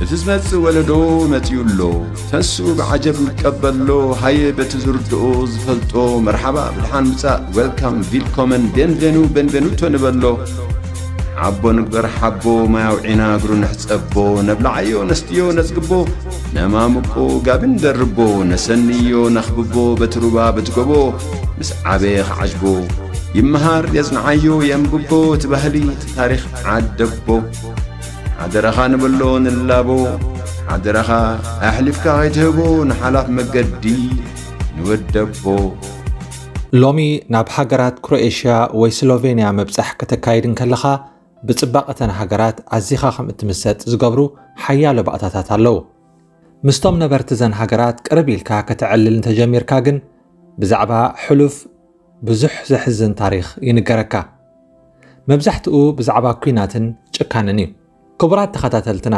እቲ ዝመጽእ ወለዶ መጺኡ ኣሎ። ተንሱ ብዓጀብ ይቀበሎ፣ ሃየ በቲ ዝርድኦ ዝፈልጦ፣ መርሓባ ብድሓን ምጻእ፣ ዌልካም፣ ቪልኮመን፣ ቤንቬኑ፣ ቤንቬኑቶ ንበሎ። ሓቦ ንግበር ሓቦ፣ ማይ ኣውዒና እግሩ ንሕጸቦ፣ ነብልዓዮ ነስትዮ ነጽግቦ፣ ነማሙቆ ጋቢ ንደርቦ፣ ነሰንዮ ነኽብቦ፣ በቲ ሩባ በቲ ጎቦ፣ ምስ ዓበየ ክዓጅቦ። ይመሃር የጽንዓዮ የንብቦ፣ እቲ ባህሊ እቲ ታሪኽ ዓደቦ። ሓደራኻ ንበሎ ንላቦ፣ ሓደራኻ ኣሕሊፍካ ከይትህቦ ንሓላፍ መገዲ ንወደቦ። ሎሚ ናብ ሃገራት ክሮኤሽያ ወይ ስሎቬንያ ምብጻሕ ከተካይድ እንከለኻ፣ ብጽባቐ እተን ሃገራት ኣዚኻ ከም እትምሰጥ ዝገብሩ ሓያሎ ባእታታት ኣለዉ። ምስቶም ነበርቲ እዘን ሃገራት ቅርብ ኢልካ ከተዕልል እንተጀሚርካ ግን፣ ብዛዕባ ሕሉፍ ብዙሕ ዘሕዝን ታሪኽ ይንገረካ። መብዛሕትኡ ብዛዕባ ኲናትን ጭካንን እዩ። ክቡራት ተኸታተልትና፣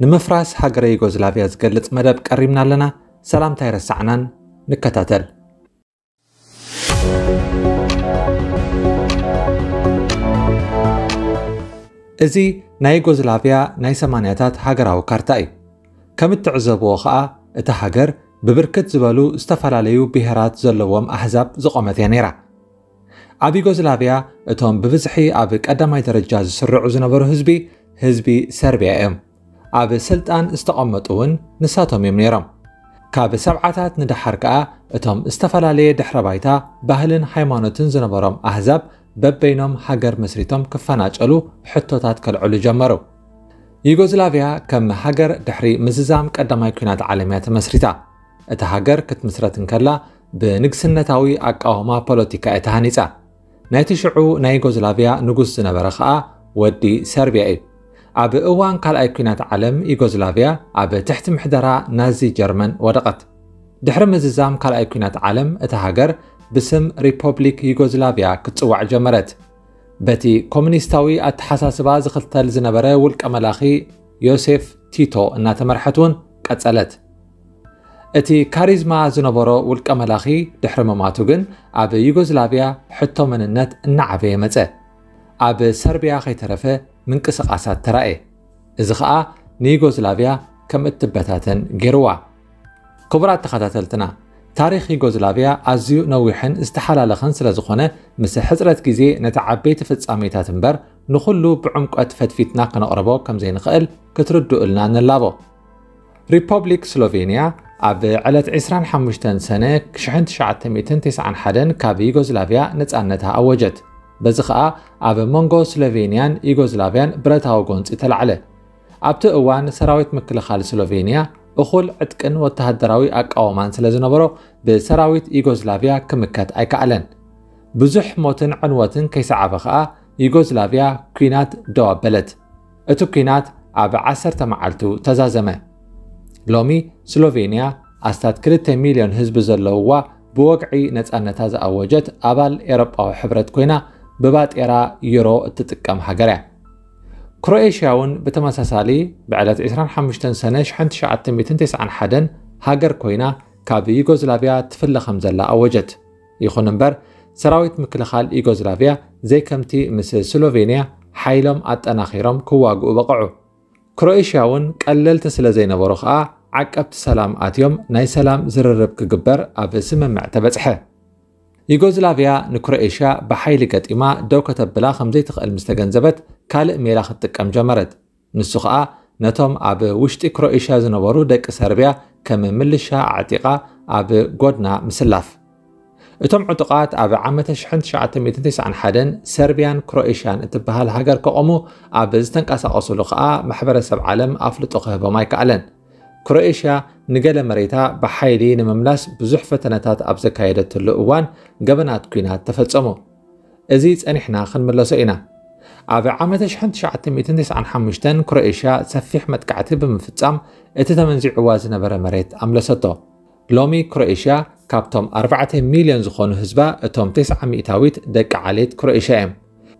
ንምፍራስ ሃገረ ዩጎዝላቪያ ዝገልጽ መደብ ቀሪብና ኣለና። ሰላምታ ኣይረሳዕናን፣ ንከታተል። እዚ ናይ ዩጎዝላቪያ ናይ ሰማንያታት ሃገራዊ ካርታ እዩ። ከም እትዕዘብዎ ኸኣ፣ እታ ሃገር ብብርክት ዝበሉ ዝተፈላለዩ ብሄራት ዘለዎም ኣህዛብ ዝቖመት እያ ነይራ። ኣብ ዩጎዝላቪያ እቶም ብብዝሒ ኣብ ቀዳማይ ደረጃ ዝስርዑ ዝነበሩ ህዝቢ፣ ህዝቢ ሰርቢያ እዮም። ኣብ ስልጣን ዝተቐመጡ እውን ንሳቶም እዮም ነይሮም። ካብ ሰብዓታት ንደሓር ከኣ እቶም ዝተፈላለየ ድሕረ ባይታ፣ ባህልን ሃይማኖትን ዝነበሮም ኣህዛብ በበይኖም ሃገር መስሪቶም ክፈናጨሉ ሕቶታት ከልዕሉ ጀመሩ። ዩጎዝላቪያ ከም ሃገር ድሕሪ ምዝዛም ቀዳማይ ኲናት ዓለም እያ ተመስሪታ። እታ ሃገር ክትምስረት እንከላ ብንግስነታዊ ኣቃውማ ፖለቲካ እያ ተሃኒጻ። ናይቲ ሽዑ ናይ ዩጎዝላቪያ ንጉስ ዝነበረ ኸኣ ወዲ ሰርቢያ እዩ። ኣብ እዋን ካልኣይ ኲናት ዓለም ዩጎዝላቪያ ኣብ ትሕቲ ምሕደራ ናዚ ጀርመን ወደቐት። ድሕሪ ምዝዛም ካልኣይ ኲናት ዓለም እታ ሃገር ብስም ሪፖብሊክ ዩጎዝላቪያ ክትጽዋዕ ጀመረት። በቲ ኮሙኒስታዊ ኣተሓሳስባ ዝኽተል ዝነበረ ውልቀ መላኺ ዮሴፍ ቲቶ እናተመርሐት እውን ቀጸለት። እቲ ካሪዝማ ዝነበሮ ውልቀ መላኺ ድሕሪ ምማቱ ግን ኣብ ዩጎዝላቪያ ሕቶ መንነት እናዓበየ መጸ። ኣብ ሰርቢያ ከይተረፈ ምንቅስቓሳት ተራእየ። እዚ ኸኣ ንዩጎዝላቪያ ከም እትበታተን ገይርዋ። ክቡራት ተኸታተልትና፣ ታሪኽ ዩጎዝላቪያ ኣዝዩ ነዊሕን ዝተሓላለኸን ስለ ዝኾነ፣ ምስ ሕጽረት ግዜ ነቲ ዓበይቲ ፍጻሜታት እምበር ንኹሉ ብዕምቆት ፈትፊትና ከነቕርቦ ከም ዘይንኽእል ክትርድኡልና ንላቦ። ሪፖብሊክ ስሎቬንያ ኣብ ዕለት ዕስራን ሓሙሽተን ሰነ ሽሕን ትሽዓተ ሚእትን ተስዓን ሓደን ካብ ዩጎዝላቪያ ነጻነታ ኣወጀት። በዚ ኸኣ ኣብ መንጎ ስሎቬንያን ዩጎዝላቪያን ብረታዊ ጎንጺ ተላዕለ። ኣብቲ እዋን ሰራዊት ምክልኻል ስሎቬንያ እኹል ዕጥቅን ወተሃደራዊ ኣቃውማን ስለ ዝነበሮ ብሰራዊት ዩጎዝላቪያ ክምከት ኣይከኣለን። ብዙሕ ሞትን ዕንወትን ከይሰዓበ ኸኣ ዩጎዝላቪያ ኲናት ደው ኣበለት። እቲ ኲናት ኣብ ዓሰርተ መዓልቱ ተዛዘመ። ሎሚ ስሎቬንያ ኣስታት ክልተ ሚልዮን ህዝቢ ዘለውዋ ብወግዒ ነጻነታ ዝኣወጀት ኣባል ኤሮጳዊ ሕብረት ኮይና ብባጤራ ዩሮ እትጥቀም ሃገር እያ። ክሮኤሽያ እውን ብተመሳሳሊ ብዕለት ዕስራን ሓሙሽተን ሰነ ሽሕን ትሽዓተ ሚእትን ተስዓን ሓደን ሃገር ኮይና ካብ ዩጎዝላቪያ ትፍለ ከም ዘላ ኣወጀት። ይኹን እምበር ሰራዊት ምክልኻል ዩጎዝላቪያ ዘይከምቲ ምስ ስሎቬንያ ሓይሎም ኣጠናኺሮም ክዋግኡ በቕዑ። ክሮኤሽያ እውን ቀለልቲ ስለ ዘይነበሩ ኸኣ ዓቀብቲ ሰላም ኣትዮም ናይ ሰላም ዝርርብ ክግበር ኣብ ስምምዕ ተበጽሐ። ዩጎዝላቪያ ንክሮኤሽያ ብሓይሊ ገጢማ ደው ከተብላ ከም ዘይትኽእል ምስ ተገንዘበት ካልእ ሜላ ክትጥቀም ጀመረት። ንሱ ኸኣ ነቶም ኣብ ውሽጢ ክሮኤሽያ ዝነበሩ ደቂ ሰርቢያ ከም ምልሻ ኣዕጢቓ ኣብ ጎድና ምስላፍ። እቶም ዕጡቓት ኣብ ዓመተ ሽሕን ትሽዓተ ሚእትን ተስዓን ሓደን ሰርቢያን ክሮኤሽያን እትበሃል ሃገር ከቖሙ ኣብ ዝተንቀሳቐሱሉ ኸኣ ማሕበረሰብ ዓለም ኣፍልጦ ክህቦም ኣይከኣለን። ክሮኤሽያ ንገለ መሬታ ብሓይሊ ንምምላስ ብዙሕ ፈተነታት ኣብ ዘካየደትሉ እዋን ገበናት ኲናት ተፈጸሙ። እዚ ጸኒሕና ክንምለሶ ኢና። ኣብ ዓመተ ሽሕን ትሽዓተ ሚእትን ተስዓን ሓሙሽተን ክሮኤሽያ ሰፊሕ መጥቃዕቲ ብምፍጻም እቲ ተመንዚዕዋ ዝነበረ መሬት ኣምለሰቶ። ሎሚ ክሮኤሽያ ካብቶም ኣርባዕተ ሚልዮን ዝኾኑ ህዝባ እቶም ተስዓ ሚእታዊት ደቂ ዓሌት ክሮኤሽያ እዮም።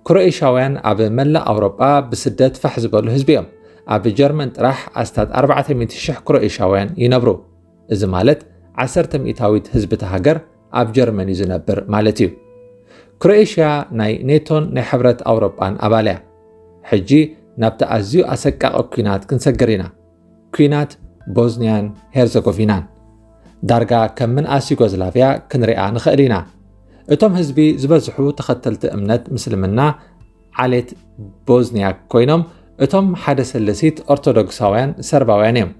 ክሮኤሽያውያን ኣብ መላእ ኣውሮጳ ብስደት ፋሕ ዝበሉ ህዝቢ እዮም። ኣብ ጀርመን ጥራሕ ኣስታት ኣርባዕተ ሚእቲ ሽሕ ክሮኤሽያውያን ይነብሩ። እዚ ማለት ዓሰርተ ሚእታዊት ህዝቢ እታ ሃገር ኣብ ጀርመን እዩ ዝነብር ማለት እዩ። ክሮኤሽያ ናይ ኔቶን ናይ ሕብረት ኣውሮጳን ኣባል እያ። ሕጂ ናብቲ ኣዝዩ ኣሰቃቒ ኲናት ክንሰግር ኢና። ኲናት ቦዝንያን ሄርዘጎቪናን። ዳርጋ ከም ምንኣስ ዩጎዝላቭያ ክንሪኣ ንኽእል ኢና። እቶም ህዝቢ ዝበዝሑ ተኸተልቲ እምነት ምስልምና ዓሌት ቦዝንያክ ኮይኖም፣ እቶም ሓደ ሰለሲት ኦርቶዶክሳውያን ሰርባውያን እዮም።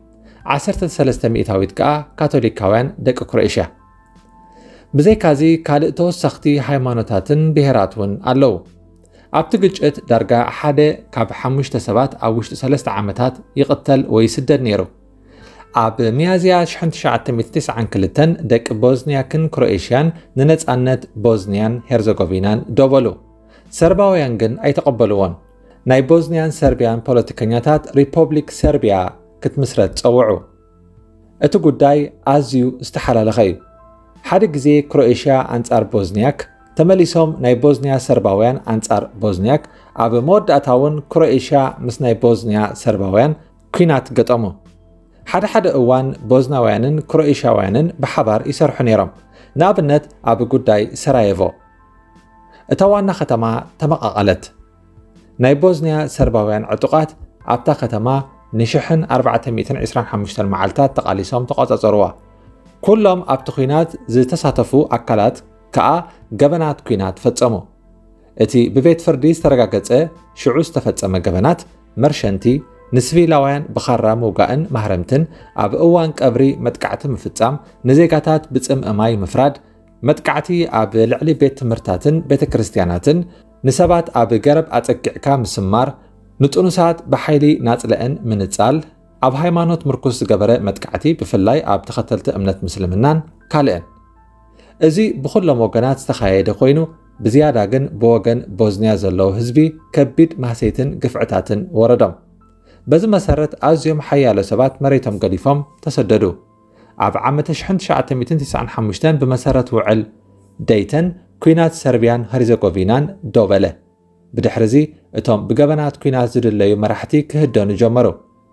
ዓሰርተ ሰለስተ ሚእታዊት ከኣ ካቶሊካውያን ደቂ ክሮኤሽያ። ብዘይካዚ ካልእ ተወሰኽቲ ሃይማኖታትን ብሄራት እውን ኣለዉ። ኣብቲ ግጭት ዳርጋ ሓደ ካብ ሓሙሽተ ሰባት ኣብ ውሽጢ ሰለስተ ዓመታት ይቕተል ወይ ይስደድ ነይሩ። ኣብ ሚያዝያ ሽሕን ትሽዓተ ሚእትን ተስዓን ክልተን ደቂ ቦዝንያክን ክሮኤሽያን ንነጻነት ቦዝንያን ሄርዘጎቪናን ደው በሉ። ሰርባውያን ግን ኣይተቐበልዎን። ናይ ቦዝንያን ሰርቢያን ፖለቲከኛታት ሪፖብሊክ ሰርቢያ ክትምስረት ጸውዑ። እቲ ጉዳይ ኣዝዩ ዝተሓላለኸ እዩ። ሓደ ግዜ ክሮኤሽያ ኣንጻር ቦዝንያክ፣ ተመሊሶም ናይ ቦዝንያ ሰርባውያን ኣንጻር ቦዝንያክ፣ ኣብ መወዳእታ እውን ክሮኤሽያ ምስ ናይ ቦዝንያ ሰርባውያን ኲናት ገጠሙ። ሓደ ሓደ እዋን ቦዝናውያንን ክሮኤሽያውያንን ብሓባር ይሰርሑ ነይሮም። ንኣብነት ኣብ ጉዳይ ሰራየቮ። እታ ዋና ከተማ ተመቓቐለት። ናይ ቦዝንያ ሰርባውያን ዕጡቓት ኣብታ ከተማ ንሽሕን ኣርባዕተ ሚእትን ዕስራን ሓሙሽተን መዓልታት ተቓሊሶም ተቖጻጸርዋ። ኩሎም ኣብቲ ኲናት ዝተሳተፉ ኣካላት ከኣ ገበናት ኲናት ፈጸሙ። እቲ ብቤት ፍርዲ ዝተረጋገጸ ሽዑ ዝተፈጸመ ገበናት መርሸንቲ፣ ንስቪላውያን ብኻራ ምውጋእን ማህረምትን፣ ኣብ እዋን ቀብሪ መጥቃዕቲ ምፍጻም፣ ንዜጋታት ብጽምኢ ማይ ምፍራድ፣ መጥቃዕቲ ኣብ ልዕሊ ቤት ትምህርታትን ቤተ ክርስቲያናትን፣ ንሰባት ኣብ ገረብ ኣጸጊዕካ ምስማር፣ ንጥኑሳት ብሓይሊ ናጽለአን ምንጻል፣ ኣብ ሃይማኖት ምርኩስ ዝገበረ መጥቃዕቲ ብፍላይ ኣብ ተኸተልቲ እምነት ምስልምናን ካልእን። እዚ ብኹሎም ወገናት ዝተኻየደ ኮይኑ፣ ብዝያዳ ግን ብወገን ቦዝንያ ዘለዉ ህዝቢ ከቢድ ማህሰይትን ግፍዕታትን ወረዶም። በዚ መሰረት ኣዝዮም ሓያሎ ሰባት መሬቶም ገዲፎም ተሰደዱ። ኣብ ዓመተ ሽሕን ትሽዓተ ሚእትን ተስዓን ሓሙሽተን ብመሰረት ውዕል ደይተን ኲናት ሰርቢያን ሄርዘጎቪናን ደው በለ። ብድሕርዚ እቶም ብገበናት ኲናት ዝድለዩ መራሕቲ ክህደኑ ጀመሩ።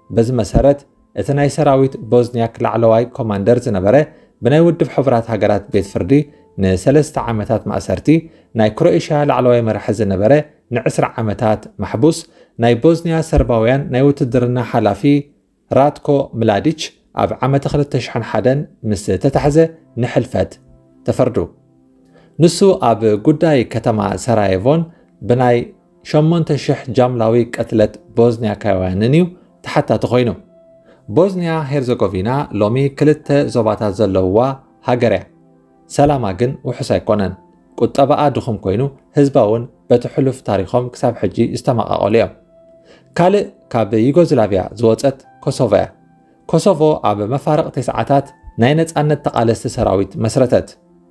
በዚ መሰረት እቲ ናይ ሰራዊት ቦዝንያክ ላዕለዋይ ኮማንደር ዝነበረ ብናይ ውድብ ሕቡራት ሃገራት ቤት ፍርዲ ንሰለስተ ዓመታት ማእሰርቲ፣ ናይ ክሮኤሽያ ላዕለዋይ መራሒ ዝነበረ ንዕስራ ዓመታት ማሕቡስ፣ ናይ ቦዝንያ ሰርባውያን ናይ ውትድርና ሓላፊ ራትኮ ምላዲች ኣብ ዓመተ ክልተ ሽሕን ሓደን ምስ ተታሕዘ ንሕልፈት ተፈርዱ። ንሱ ኣብ ጉዳይ ከተማ ሰራየቮን ብናይ ሸሞንተ ሽሕ ጃምላዊ ቅትለት ቦዝንያካውያንን እዩ ተሓታቲ ኮይኑ። ቦዝንያ ሄርዘጎቪና ሎሚ ክልተ ዞባታት ዘለውዋ ሃገር እያ። ሰላማ ግን ውሑስ ኣይኮነን። ቁጠባኣ ድኹም ኮይኑ፣ ህዝባ እውን በቲ ሕሉፍ ታሪኾም ክሳብ ሕጂ ዝተመቓቐሉ እዮም። ካልእ ካብ ዩጎዝላቭያ ዝወጸት ኮሶቮ እያ። ኮሶቮ ኣብ መፋርቕ ተስዓታት ናይ ነጻነት ተቓለስቲ ሰራዊት መስረተት።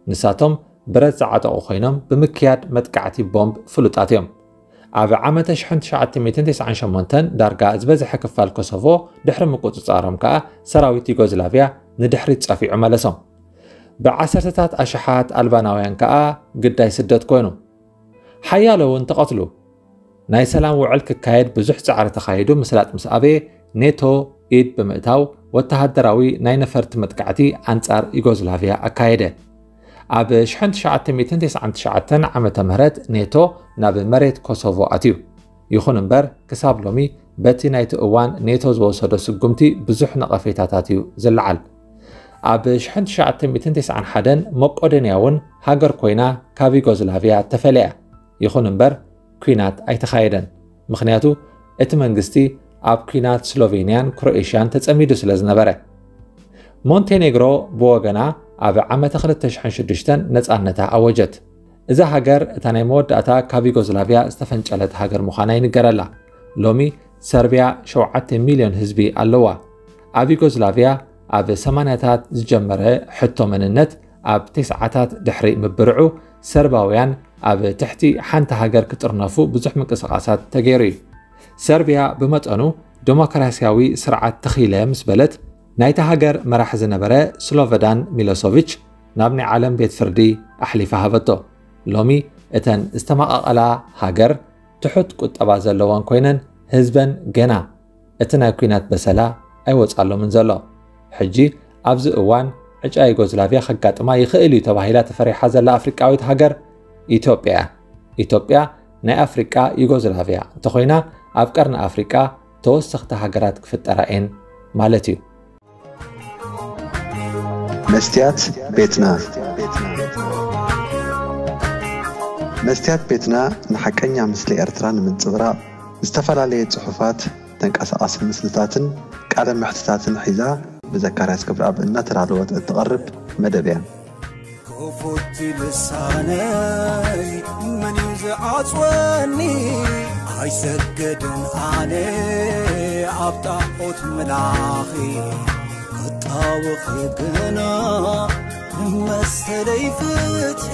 ንሳቶም ብረት ዝዓጠቑ ኮይኖም ብምክያድ መጥቃዕቲ ቦምብ ፍሉጣት እዮም። ኣብ ዓመተ ሽሕን ትሽዓተ ሚእትን ተስዓን ሸሞንተን ዳርጋ ዝበዝሐ ክፋል ኮሶቮ ድሕሪ ምቁጽጻሮም ከኣ ሰራዊት ዩጎዝላቭያ ንድሕሪት ጸፊዑ መለሶም። ብዓሰርተታት ኣሽሓት ኣልባናውያን ከኣ ግዳይ ስደት ኮይኑ። ሓያሎ እውን ተቐትሉ። ናይ ሰላም ውዕል ክካየድ ብዙሕ ጻዕሪ ተኻይዱ ምስላጥ ምስ ኣበየ ኔቶ ኢድ ብምእታው ወተሃደራዊ ናይ ነፈርቲ መጥቃዕቲ ኣንጻር ዩጎዝላቭያ ኣካየደ። ኣብ ሽሕን ትሽዓተ ሚእትን ተስዓን ትሽዓተን ዓመተ ምህረት ኔቶ ናብ መሬት ኮሶቮ ኣትዩ። ይኹን እምበር ክሳብ ሎሚ በቲ ናይቲ እዋን ኔቶ ዝወሰዶ ስጉምቲ ብዙሕ ነቐፌታታት እዩ ዝለዓል። ኣብ ሽሕን ትሽዓተ ሚእትን ተስዓን ሓደን መቆዶንያ እውን ሃገር ኮይና ካብ ዩጎዝላቭያ ተፈልያ። ይኹን እምበር ኲናት ኣይተኻየደን። ምኽንያቱ እቲ መንግስቲ ኣብ ኲናት ስሎቬንያን ክሮኤሽያን ተጸሚዱ ስለ ዝነበረ። ሞንቴኔግሮ ብወገና ኣብ ዓመተ ክልተ ሽሕን ሽዱሽተን ነጻነታ ኣወጀት። እዛ ሃገር እታ ናይ መወዳእታ ካብ ዩጎዝላቭያ ዝተፈንጨለት ሃገር ምዃና ይንገረላ። ሎሚ ሰርብያ ሸውዓተ ሚልዮን ህዝቢ ኣለዋ። ኣብ ዩጎዝላቭያ ኣብ ሰማንያታት ዝጀመረ ሕቶ መንነት ኣብ ተስዓታት ድሕሪ ምብርዑ ሰርባውያን ኣብ ትሕቲ ሓንቲ ሃገር ክጥርነፉ ብዙሕ ምንቅስቓሳት ተገይሩ እዩ። ሰርብያ ብመጠኑ ዴሞክራስያዊ ስርዓት ተኺለ ምስ በለት ናይታ ሃገር መራሒ ዝነበረ ስሎቨዳን ሚሎሶቪች ናብ ናይ ዓለም ቤት ፍርዲ ኣሕሊፋ ሃበቶ። ሎሚ እተን ዝተመቓቐላ ሃገር ትሑት ቁጠባ ዘለወን ኮይነን ህዝበን ገና እቲ ናይ ኲናት በሰላ ኣይወጻሎምን ዘሎ። ሕጂ ኣብዚ እዋን ዕጫ ዩጎዝላቭያ ከጋጥማ ይኽእል እዩ ተባሂላ ተፈሪሓ ዘላ ኣፍሪቃዊት ሃገር ኢትዮጵያ እያ። ኢትዮጵያ ናይ ኣፍሪቃ ዩጎዝላቭያ እንተኾይና ኣብ ቀርኒ ኣፍሪቃ ተወሰኽቲ ሃገራት ክፍጠራ እየን ማለት እዩ። መስትያት ቤትና። መስትያት ቤትና ንሓቀኛ ምስሊ ኤርትራ ንምንጽብራቕ ዝተፈላለየ ጽሑፋት፣ ተንቀሳቓሲ ምስልታትን ቃለ መሕትታትን ሒዛ ብዘካርያስ ክብረኣብ እናተዳለወት እትቐርብ መደብ እያ። ክፉት ልሳነይ መን እዩ ዝዓጽወኒ? ኣይሰገድን ኣነ ኣብ ጣዖት ምላኺ ክጣወኺ ግና መሰለይ ፍትሒ